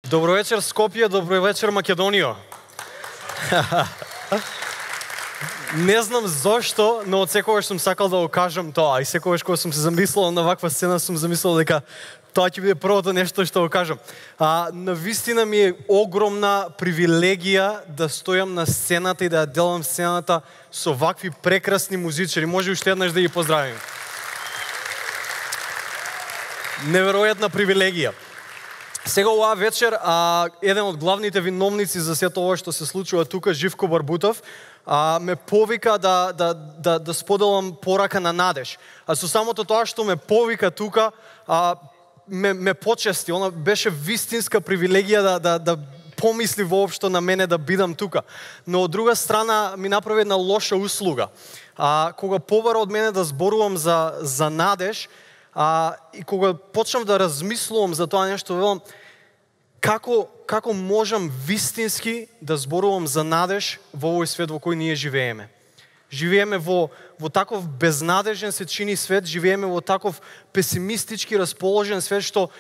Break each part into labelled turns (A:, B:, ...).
A: Добро вечер Скопје, добро вечер Македонија. Не знам зошто, но од секогаш сум сакал да го кажам тоа и секогаш кога сум се замислил на ваква сцена сум замислил дека тоа ќе биде првото нешто што го кажам. Навистина ми е огромна привилегија да стојам на сцената и да делам сцената со вакви прекрасни музичари. Може уште еднаш да ги поздравим. Неверојатна привилегија. Сега оваа вечер еден од главните виновници за сето ова што се случува тука, Живко Барбутов, ме повика да споделам порака на надеж. Со самото тоа што ме повика тука, ме почести. Она беше вистинска привилегија да помисли воопшто на мене да бидам тука. Но од друга страна ми направи една лоша услуга. Кога побара од мене да зборувам за надеж, и кога почнав да размислувам за тоа нешто, велам, како можам вистински да зборувам за надеж во овој свет во кој ние живееме. Живееме во таков безнадежен се чини свет, живееме во таков песимистички расположен свет, што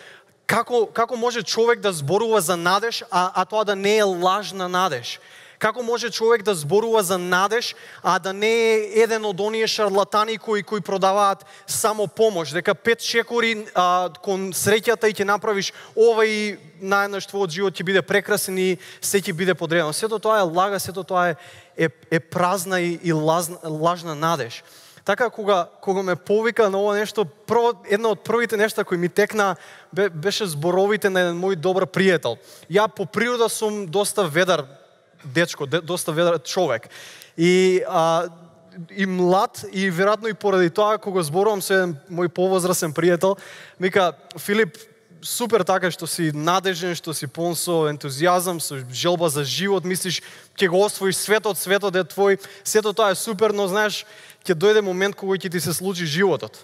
A: како може човек да зборува за надеж, а тоа да не е лажна надеж? Како може човек да зборува за надеж, а да не е еден од оние шарлатани кои продаваат само помош, дека 5 шекори кон среќата и ќе направиш ова и наеднаш твојот живот ќе биде прекрасен и се ќе биде подредено. Сето тоа е лага, сето тоа е празна и лажна надеж. Така кога ме повика на ова нешто, една од првите нешта кои ми текна беше зборовите на еден мој добар пријател. Ја по природа сум доста ведар дечко, доста ведар човек. И млад, и веројатно и поради тоа, кога зборувам со еден мој повозрасен пријател, вика, Филип, супер така што си надежен, што си полн со ентузијазам, со желба за живот, мислиш, ќе го освоиш светот е твој, сето тоа е супер, но знаеш, ќе дојде момент кога ќе ти се случи животот.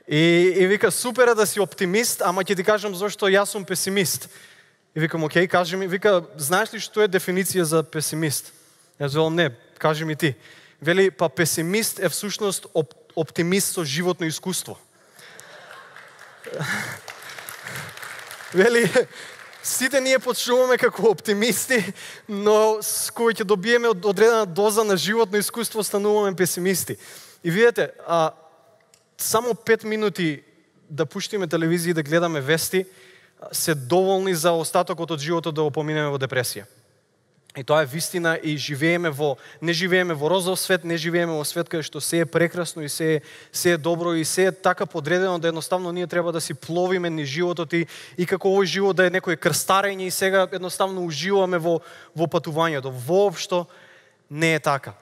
A: И вика, супер е да си оптимист, ама ќе ти кажам зашто јас сум песимист. И викам, окей, кажи ми, вика, знаеш ли што е дефиниција за песимист? Јас велам, не, кажи ми ти. Вели, па песимист е всушност оптимист со животно искуство. Вели, сите ние почнуваме како оптимисти, но с кои ќе добиеме одредена доза на животно искуство, стануваме песимисти. И видете, само 5 минути да пуштиме телевизија и да гледаме вести, се доволни за остатокот од животот да го поминеме во депресија. И тоа е вистина и не живееме во розов свет, не живееме во свет каде што се е прекрасно и се е добро и се е така подредено да едноставно ние треба да си пловиме низ животот и како овој живот да е некој крстарење и сега едноставно уживаме во патувањето. Воопшто не е така.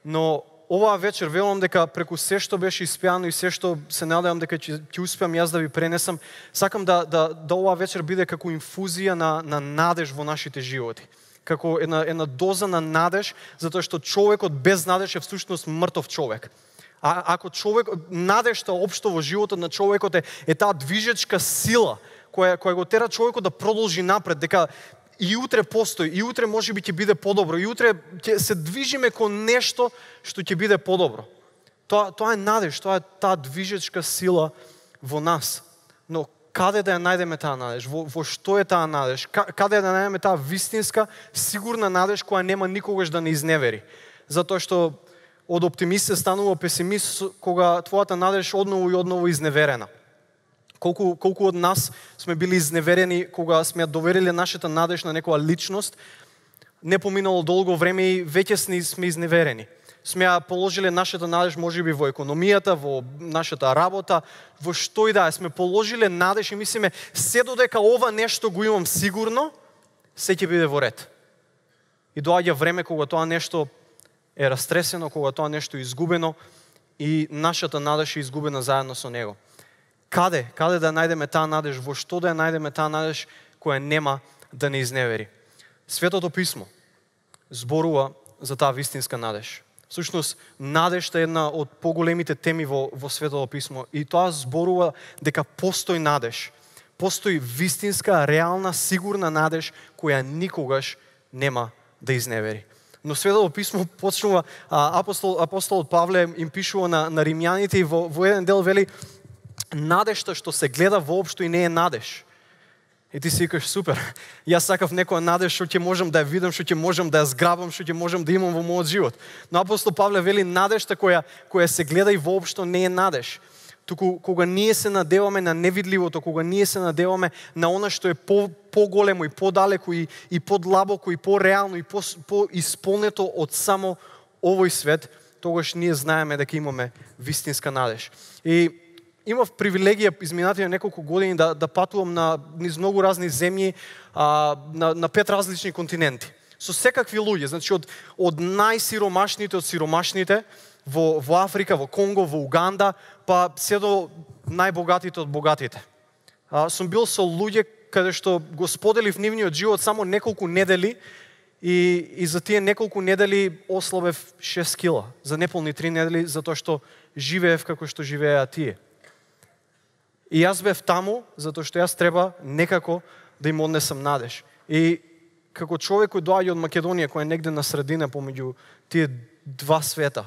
A: Но оваа вечер велам дека преку се што беше испеано и се што се надевам дека ќе успеам јас да ви пренесам, сакам да оваа вечер биде како инфузија на надеж во нашите животи. Како една доза на надеж, затоа што човекот без надеж е всушност мртов човек. Ако надежта општо во животот на човекот е таа движечка сила која го тера човекот да продолжи напред, дека и утре постои, и утре можеби ќе биде подобро, и утре ќе се движиме кон нешто што ќе биде подобро. Тоа е надеж, тоа е таа движечка сила во нас. Но каде да ја најдеме таа надеж? Во што е таа надеж? Каде да најдеме таа вистинска, сигурна надеж која нема никогаш да не изневери? Затоа што од оптимист се станува песимист кога твојата надеж одново и одново изневерена. Колку од нас сме били изневерени кога сме ја довериле нашата надеж на некоја личност, не поминало долго време и веќе сме изневерени. Сме ја положиле нашата надеж можеби во економијата, во нашата работа, во што и да е. Сме положиле надеж и мислиме, се додека ова нешто го имам сигурно, се ќе биде во ред. И доаѓа време кога тоа нешто е растресено, кога тоа нешто е изгубено и нашата надеж е изгубена заедно со него. Каде да најдеме таа надеж, во што да ја најдеме таа надеж која нема да не изневери? Светото писмо зборува за таа вистинска надеж. Всушност, надежта е една од поголемите теми во Светото писмо и тоа зборува дека постои надеж. Постои вистинска, реална, сигурна надеж која никогаш нема да изневери. Но Светото писмо почнува, апостолот Павле им пишува на римјаните и во еден дел вели, надежта што се гледа воопшто и не е надеж. И ти си викаш, супер, јас сакав некоја надеж што ќе можам да ја видам, што ќе можам да ја зграбам, што ќе можам да имам во мојот живот. Но апостол Павле вели надежта која се гледа и воопшто не е надеж. Туку кога ние се надеваме на невидливото, кога ние се надеваме на она што е по-големо и по-далеко и подлабоко и по-реално и по-исполнето од само овој свет, тогаш ние знаеме дека имаме вистинска надеж. И имав привилегија изминатите неколку години да патувам низ многу разни земји, на 5 различни континенти. Со секакви луѓе, значи од најсиромашните од сиромашните, во Африка, во Конго, во Уганда, па се до најбогатите од богатите. Сум бил со луѓе каде што го споделив нивниот живот само неколку недели и за тие неколку недели ослабев 6 кила. За неполни 3 недели, затоа што живеев како што живееа тие. И јас бев таму, затоа што јас треба некако да им однесам надеж. И како човек кој доаѓа од Македонија, кој е негде на средина помеѓу тие два света,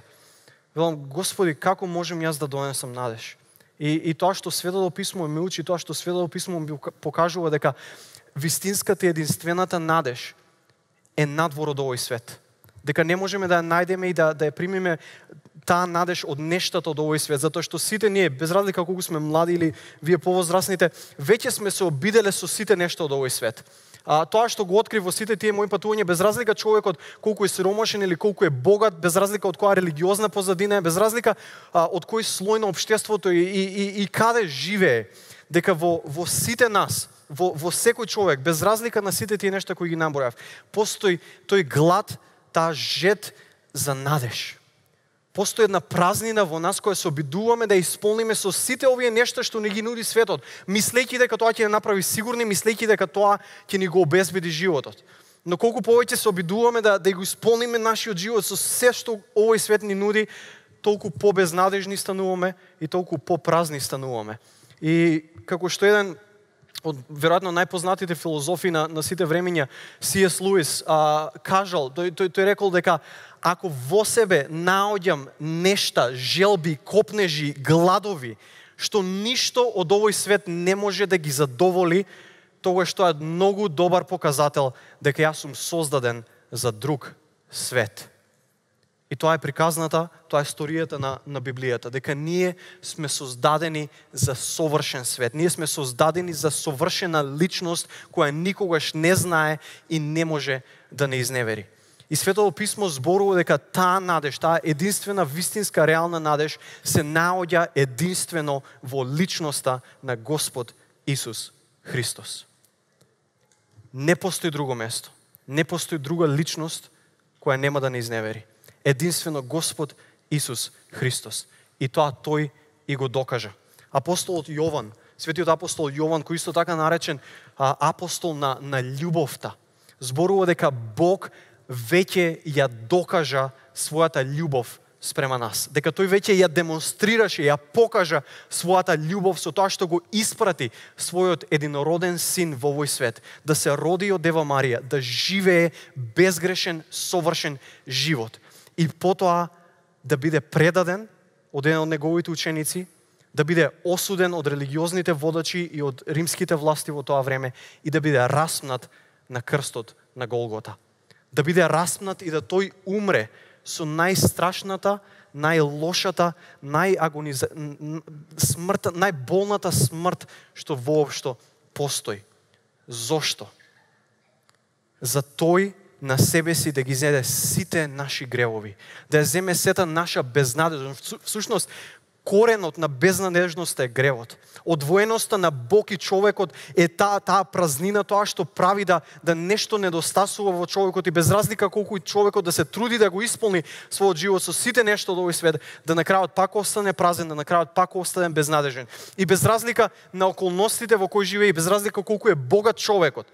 A: велам, Господи, како можем јас да донесам надеж? И тоа што Светото писмо ме учи, тоа што Светото писмо ми покажува дека вистинската и единствената надеж е надвор од овој свет. Дека не можеме да ја најдеме и да ја примиме таа надеж од нештата од овој свет, затоа што сите ние, без разлика колку сме млади или вие повозрасните, веќе сме се обиделе со сите нешта од овој свет. Тоа што го открив во сите тие мои патувања, без разлика човекот колку е сиромашен или колку е богат, без разлика од која религиозна позадина е, без разлика од кој слој на општеството и каде живее, дека во сите нас, во секој човек, без разлика на сите тие нешта кои ги набројав, постои тој глад, таа жет за надеж. Постои една празнина во нас која се обидуваме да исполниме со сите овие нешта што ни ги нуди светот, мислејќи дека тоа ќе не направи сигурни, мислејќи дека тоа ќе ни го обезбеди животот. Но колку повеќе се обидуваме да го исполниме нашиот живот со се што овој свет ни нуди, толку побезнадежни стануваме и толку попразни стануваме. И како што еден од веројатно најпознатите филозофи на сите времења, C.S. Луис, кажал, тој рекол дека ако во себе наоѓам нешта, желби, копнежи, гладови, што ништо од овој свет не може да ги задоволи, тогаш тоа е многу добар показател дека јас сум создаден за друг свет. И тоа е приказната, тоа е историјата на Библијата, дека ние сме создадени за совршен свет. Ние сме создадени за совршена личност која никогаш не знае и не може да не изневери. И Светото писмо зборува дека таа надеж, таа единствена вистинска реална надеж се наоѓа единствено во личноста на Господ Исус Христос. Не постои друго место, не постои друга личност која нема да не изневери. Единствено Господ Исус Христос. И тоа тој и го докажа. Апостолот Јован, светиот апостол Јован, кој исто така наречен апостол на љубовта, зборува дека Бог веќе ја докажа својата љубов спрема нас. Дека тој веќе ја демонстрираше, ја покажа својата љубов со тоа што го испрати својот единороден син во овој свет, да се роди од Дева Марија, да живее безгрешен, совршен живот. И потоа да биде предаден од еден од неговите ученици, да биде осуден од религиозните водачи и од римските власти во тоа време и да биде распнат на крстот на Голгота. Да биде распнат и да тој умре со најстрашната, најлошата, смртта, најболната смрт што воопшто постои. Зошто? За тој на себе си да ги зеде сите наши гревови, да ја земе сета наша безнадежност. Всушност, коренот на безнадежноста е гревот. Одвоеноста на Бог и човекот е таа празнина, тоа што прави да нешто недостасува во човекот и без разлика колку и човекот да се труди да го исполни својот живот со сите нешто од овој свет, да на крајот пак остане празен, да на крајот пак остане безнадежен. И без разлика на околностите во кои живее, и без разлика колку е богат човекот,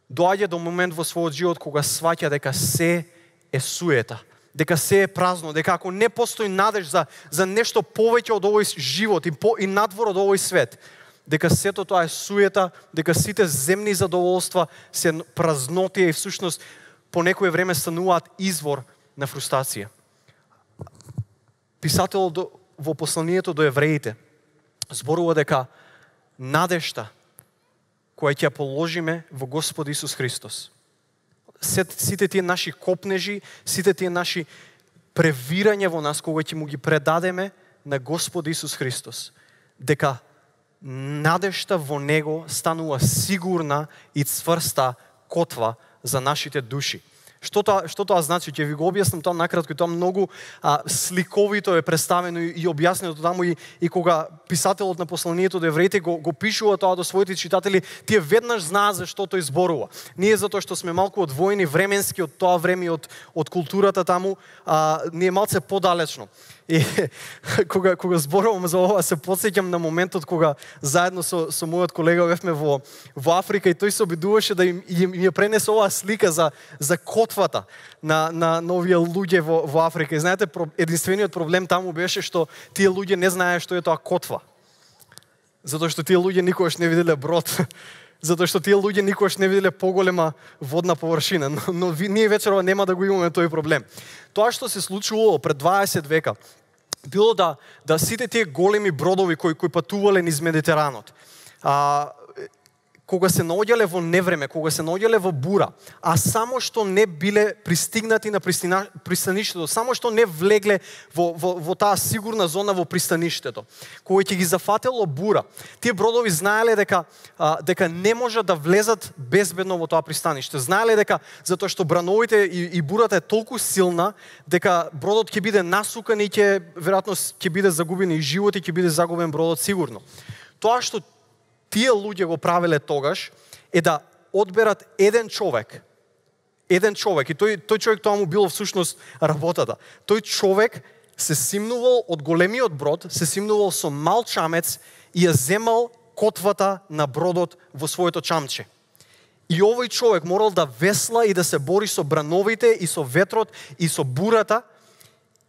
A: доаѓа до момент во својот живот кога сваќа дека се е суета, дека се е празно, дека ако не постои надеж за нешто повеќе од овој живот и надвор од овој свет, дека сето тоа е суета, дека сите земни задоволства се празнотија и всушност по некое време стануваат извор на фрустрација. Писателот во посланието до евреите зборува дека надежта која ќе положиме во Господ Исус Христос. Сите тие наши копнежи, сите тие наши превирања во нас, кога ќе му ги предадеме на Господ Исус Христос, дека надежта во Него станува сигурна и цврста котва за нашите души. Што тоа значи? Ќе ви го објаснам тоа накратко, тоа многу сликовито е представено и објаснено таму и кога писателот на посланието до евреите го пишува тоа до своите читатели, тие веднаш знаат за што тој зборува. Ние затоа што сме малку одвоени временски од тоа време од културата таму, ние малце подалечно. И кога зборувам за ова, се потсеќам на моментот кога заедно со мојот колега бевме во Африка и тој се обидуваше да им ја пренесе оваа слика за котвата на овие луѓе во Африка. И знаете, единствениот проблем таму беше што тие луѓе не знаеа што е тоа котва. Затоа што тие луѓе никогаш не виделе брод. Затоа што тие луѓе никогаш не виделе поголема водна површина. Но ние вечерова нема да го имаме тој проблем. Тоа што се случувало пред 20 века, било да сите тие големи бродови кои патувале низ Медитеранот, кога се наоѓале во невреме, кога се наоѓале во бура, а само што не биле пристигнати на пристаништето, само што не влегле во таа сигурна зона во пристаништето, кога ќе ги зафатело бура, тие бродови знаеле дека не можат да влезат безбедно во тоа пристаниште. Знаеле дека затоа што брановите и бурата е толку силна, дека бродот ќе биде насукан и веројатно ќе биде загубен и живот и ќе биде загубен бродот сигурно. Тоа што тие луѓе го правеле тогаш е да одберат еден човек и тој човек тоа му било всушност работата. Тој човек се симнувал од големиот брод, се симнувал со мал чамец и ја земал котвата на бродот во своето чамче. И овој човек морал да весла и да се бори со брановите и со ветрот и со бурата,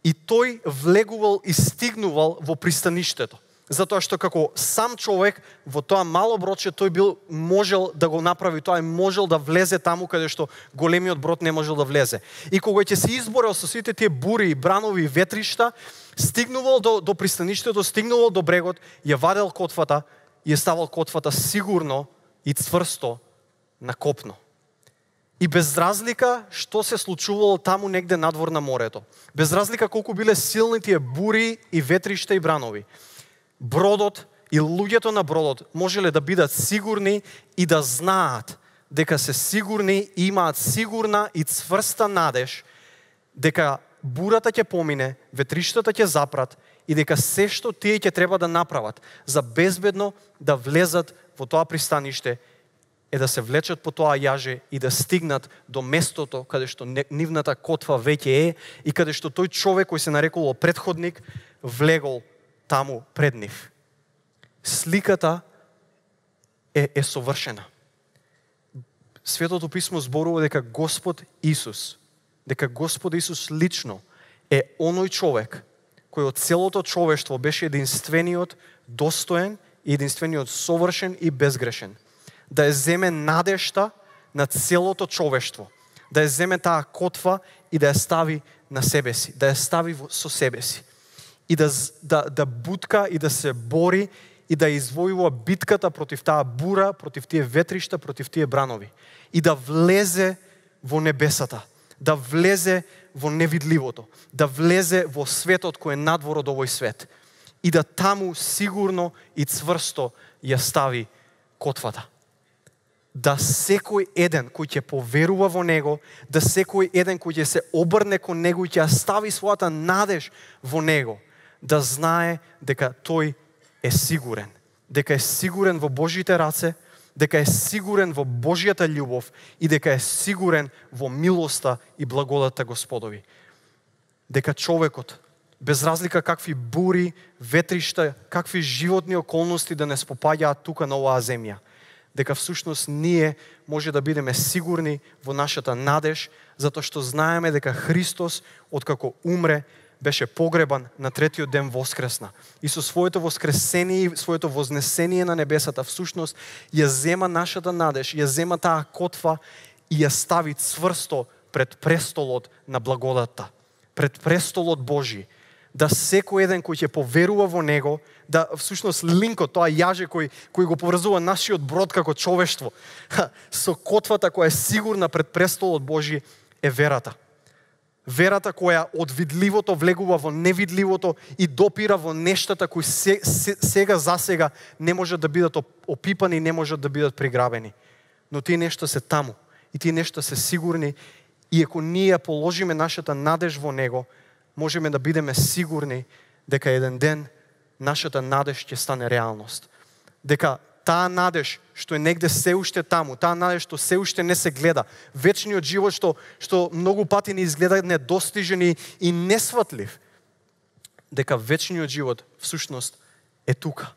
A: и тој влегувал и стигнувал во пристаништето. Затоа што како сам човек во тоа мало бродче тој можел да го направи тоа и можел да влезе таму каде што големиот брод не можел да влезе. И кога ќе се изборел со сите тие бури, бранови и ветришта, стигнувал до пристаништето, стигнувал до брегот, ја вадел котвата и ја ставал котвата сигурно и цврсто на копно. И без разлика што се случувало таму негде надвор на морето, без разлика колку биле силни тие бури и ветришта и бранови, бродот и луѓето на бродот можеле да бидат сигурни и да знаат дека се сигурни и имаат сигурна и цврста надеж дека бурата ќе помине, ветриштата ќе запрат и дека се што тие ќе треба да направат за безбедно да влезат во тоа пристаниште е да се влечат по тоа јаже и да стигнат до местото каде што нивната котва веќе е и каде што тој човек кој се нарекувал претходник влегол таму пред нив. Сликата е совршена. Светото писмо зборува дека Господ Исус лично е оној човек кој од целото човештво беше единствениот достоен и единствениот совршен и безгрешен. Да ја земе надежта на целото човештво, да ја земе таа котва и да ја стави на себе си, да ја стави со себе си. И да бутка и да се бори и да извојува битката против таа бура, против тие ветришта, против тие бранови. И да влезе во небесата, да влезе во невидливото, да влезе во светот кој е надвор од овој свет. И да таму сигурно и цврсто ја стави котвата. Да секој еден кој ќе поверува во него, да секој еден кој ќе се обрне кон него и ќе стави својата надеж во него, да знае дека тој е сигурен. Дека е сигурен во Божите раце, дека е сигурен во Божјата љубов и дека е сигурен во милоста и благодата Господови. Дека човекот, без разлика какви бури, ветришта, какви животни околности да не спопаѓаат тука на оваа земја, дека всушност ние може да бидеме сигурни во нашата надеж, затоа што знаеме дека Христос, откако умре, беше погребан, на третиот ден воскресна. И со своето воскресение и своето вознесение на небесата, всушност ја зема нашата надеж, ја зема таа котва и ја стави цврсто пред престолот на благодата, пред престолот Божи, да секој еден кој ќе поверува во него, да всушност линкот, тоа јаже кој го поврзува нашиот брод како човештво, со котвата која е сигурна пред престолот Божи е верата. Верата која од видливото влегува во невидливото и допира во нештата кои сега за сега не можат да бидат опипани, не можат да бидат приграбени. Но тие нешта се таму и тие нешта се сигурни и ако ние положиме нашата надеж во него, можеме да бидеме сигурни дека еден ден нашата надеж ќе стане реалност. Дека таа надеж што е негде се уште таму, таа надеж што се уште не се гледа, вечниот живот што многу пати ни изгледа недостижен и несватлив, дека вечниот живот всушност е тука.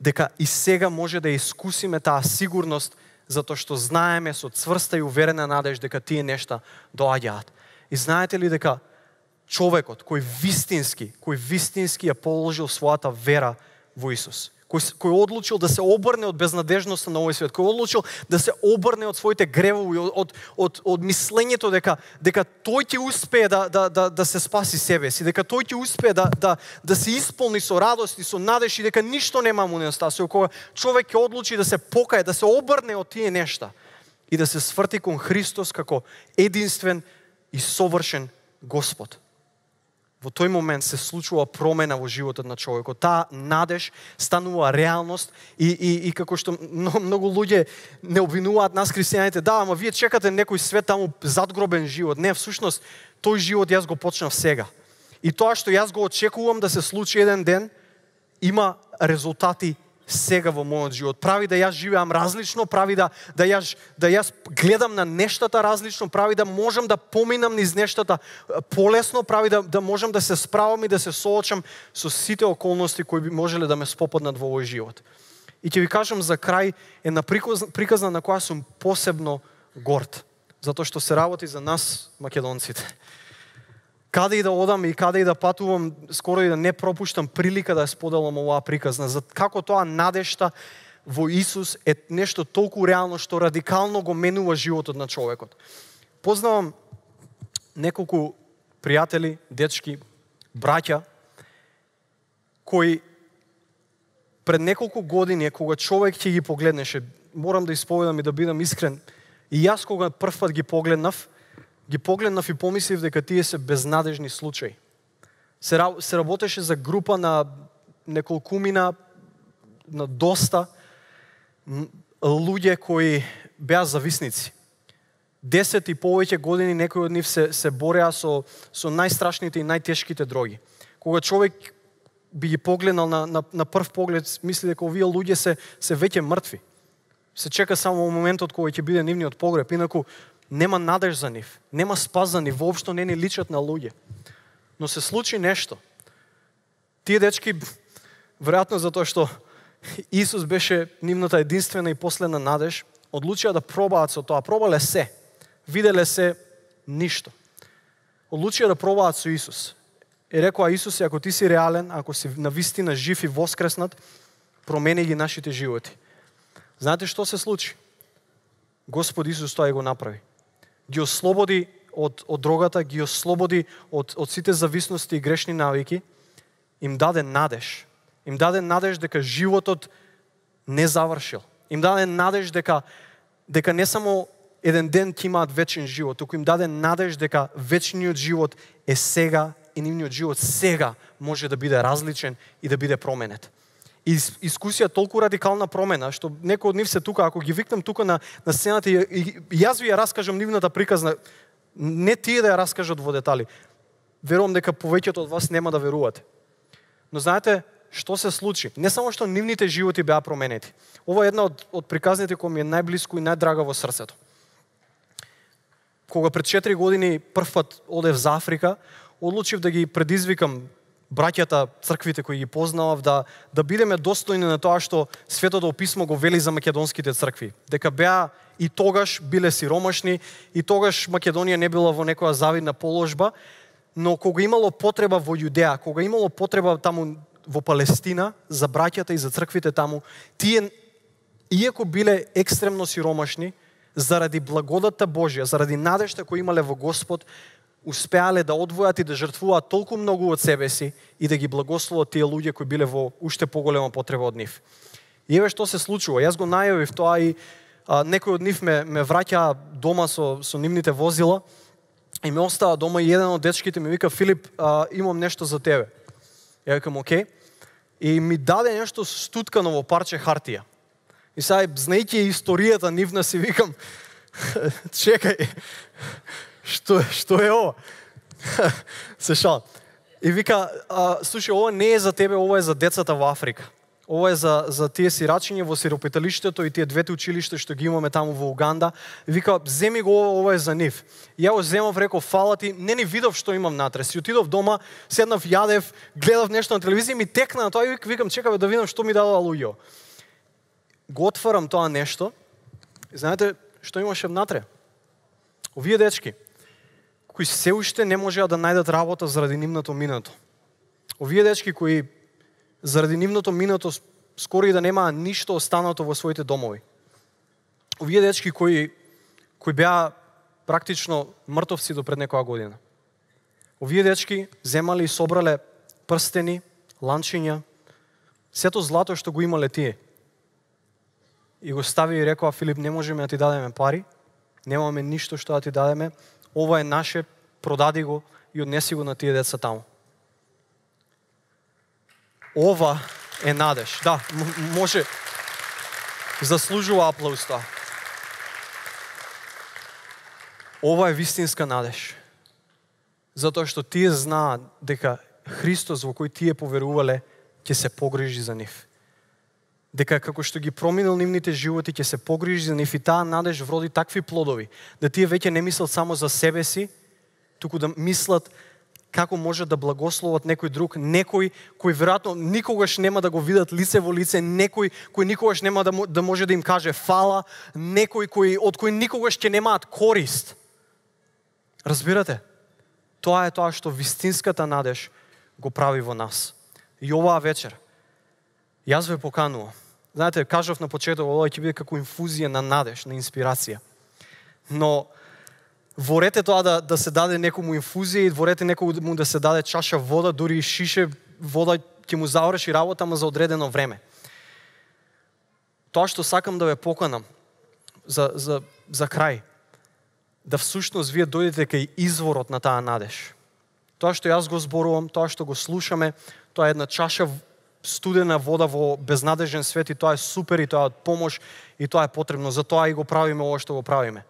A: Дека и сега може да искусиме таа сигурност затоа што знаеме со цврста и уверена надеж дека тие нешта доаѓаат. И знаете ли дека човекот кој вистински ја положил својата вера во Исус, кој одлучил да се обрне од безнадежноста на овој свет, кој одлучил да се обрне од своите гревови, од мислењето дека тој ќе успее да се спаси себе си, дека тој ќе успее да се исполни со радост и со надеж и дека ништо нема му недостасува, кога човек ќе одлучи да се покае, да се обрне од тие нешта и да се сврти кон Христос како единствен и совршен Господ. Во тој момент се случува промена во животот на човекот. Таа надеж станува реалност и како што многу луѓе не обвинуваат нас христијаните, да, ама вие чекате некој свет таму задгробен живот. Не, всушност тој живот јас го почнав сега. И тоа што јас го очекувам да се случи еден ден, има резултати сега во мојот живот. Прави да јас живеам различно, прави да јас гледам на нештата различно, прави да можам да поминам низ нештата полесно, прави да можам да се справам и да се соочам со сите околности кои би можеле да ме спопаднат во овој живот. И ќе ви кажам за крај една приказна на која сум посебно горд, затоа што се работи за нас македонците. Каде и да одам и каде и да патувам, скоро и да не пропуштам прилика да ја споделам оваа приказна. За како тоа надежта во Исус е нешто толку реално што радикално го менува животот на човекот. Познавам неколку пријатели, дечки, браќа, кои пред неколку години, кога човек ќе ги погледнеше, морам да исповедам и да бидам искрен, и јас кога прв пат ги погледнав и помислив дека тие се безнадежни случаи. Се работеше за група на неколкумина, на доста луѓе кои беа зависници. 10 и повеќе години некои од нив се бореа со најстрашните и најтешките дроги. Кога човек би ги погледнал на прв поглед, мисли дека овие луѓе се веќе мртви. Се чека само моментот кога ќе биде нивниот погреб, инаку нема надеж за нив, нема спас за нив, воопшто не ни личат на луѓе. Но се случи нешто. Тие дечки, веројатно затоа што Исус беше нивната единствена и последна надеж, одлучија да пробаат со тоа. Пробале се, виделе се ништо. Одлучија да пробаат со Исус. И рекоа: Исусе, ако ти си реален, ако си навистина жив и воскреснат, промени ги нашите животи. Знаете што се случи? Господ Исус тоа и го направи. Ги ослободи од дрогата, ги ослободи од сите зависности и грешни навики, им даде надеж. Им даде надеж дека животот не завршил. Им даде надеж дека не само еден ден ќе имаат вечен живот, туку им даде надеж дека вечниот живот е сега и нивниот живот сега може да биде различен и да биде променет. И искусија толку радикална промена, што некои од нив се тука, ако ги викнам тука на сцената и јас ви ја раскажам нивната приказна, не тие да ја раскажат во детали. Верувам дека повеќето од вас нема да верувате. Но знаете што се случи? Не само што нивните животи беа променети. Ова е една од приказните која ми е најблиско и најдрага во срцето. Кога пред 4 години прв пат одев за Африка, одлучив да ги предизвикам браќата, црквите кои ги познавав, да бидеме достојни на тоа што Светото Писмо го вели за македонските цркви. Дека беа и тогаш биле сиромашни, и тогаш Македонија не била во некоја завидна положба, но кога имало потреба во Јудеа, кога имало потреба таму во Палестина, за браќата и за црквите таму, тие, иако биле екстремно сиромашни, заради благодата Божја, заради надежта која имале во Господ, успеале да одвојат и да жртвуваат толку многу од себе си и да ги благословат тие луѓе кои биле во уште поголема потреба од нив. И еве што се случува. Јас го најавив тоа и некој од нив ме враќа дома со нивните возила и ме остава дома и еден од дечките ми вика: Филип, имам нешто за тебе. Ја викам: окей. И ми даде нешто стуткано во парче хартија. И сега, знаејќи историјата нивна, си викам: чекај, што е ова? Се шалам. И вика: слушај, ова не е за тебе, ова е за децата во Африка. Ова е за тие сирачиња во сиропиталиштето и тие двете училишта што ги имаме таму во Уганда. И вика: земи го ова е за нив. И ја го земав, реков: фала ти, не ни видов што имам натре. Си отидов дома, седнав, јадев, гледав нешто на телевизија, ми текна на тоа и викам: чекав да видам што ми дадоа луѓе. Го отварам тоа нешто и знаете што имаше внатре? Овие дечки кои се уште не можеа да најдат работа заради нивното минато. Овие дечки кои заради нивното минато скоро и да немаа ништо останато во своите домови. Овие дечки кои беа практично мртовци до пред некоја година. Овие дечки земале и собрале прстени, ланчиња, сето злато што го имале тие. И го стави и рекоа: Филип, не можеме да ти дадеме пари, немаме ништо што да ти дадеме, ова е наше, продади го и однеси го на тие деца таму. Ова е надеж. Да, може, заслужува аплауз тоа. Ова е вистинска надеж. Затоа што тие знаат дека Христос во кој тие поверувале ќе се погрижи за нив. Дека како што ги проминал нивните животи ќе се погрижи за нив и таа надеж вроди такви плодови, да тие веќе не мислат само за себе си, туку да мислат како може да благословат некој друг, некој кој веројатно никогаш нема да го видат лице во лице, некој кој никогаш нема да може да им каже фала, некој од кој никогаш ќе немаат корист. Разбирате? Тоа е тоа што вистинската надеж го прави во нас. И оваа вечер јас ве поканувам. Знаете, кажав на почеток, ова ќе биде како инфузија на надеж, на инспирација. Но ворете тоа да се даде некому инфузија и ворете некому да се даде чаша вода, дури и шише вода ќе му заврши работа, ама за одредено време. Тоа што сакам да ве поканам за крај, да всушност вие дојдете кај изворот на таа надеж. Тоа што јас го зборувам, тоа што го слушаме, тоа е една чаша студена вода во безнадежен свет и тоа е супер и тоа е од помош и тоа е потребно. Затоа и го правиме ова што го правиме.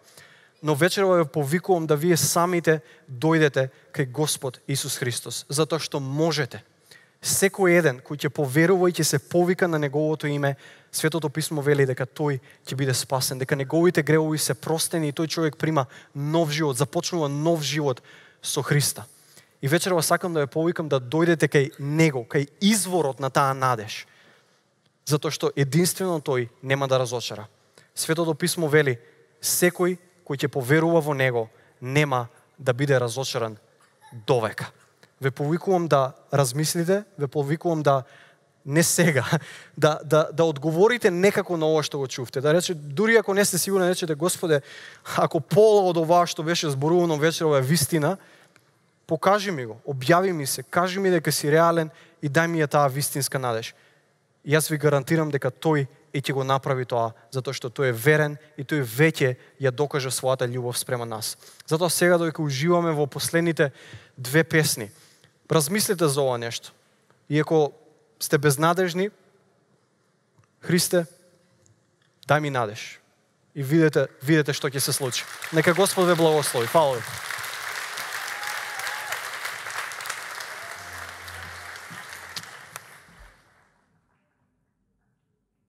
A: Но вечерва ве повикувам да вие самите дојдете кај Господ Исус Христос, затоа што можете. Секој еден кој ќе поверува и ќе се повика на неговото име, Светото писмо вели дека тој ќе биде спасен, дека неговите гревови се простени и тој човек прима нов живот, започнува нов живот со Христа. И вечерва сакам да ве повикам да дојдете кај Него, кај изворот на таа надеж. Затоа што единствено тој нема да разочара. Светото писмо вели: секој кој ќе поверува во Него нема да биде разочаран довека. Ве повикувам да размислите, ве повикувам да не сега, да одговорите некако на ова што го чувте. Да рече, дури ако не сте сигурни, речете: Господе, ако пола од ова што беше зборувано вечерва е вистина, покажи ми го, објави ми се, кажи ми дека си реален и дај ми ја таа вистинска надеж. Јас ви гарантирам дека тој и ќе го направи тоа, затоа што тој е верен и тој веќе ја докажа својата љубов спрема нас. Затоа сега додека уживаме во последните две песни, размислете за ова нешто. И ако сте безнадежни, Христе, дај ми надеж. И видете што ќе се случи. Нека Господ ве благослови. Фала ви.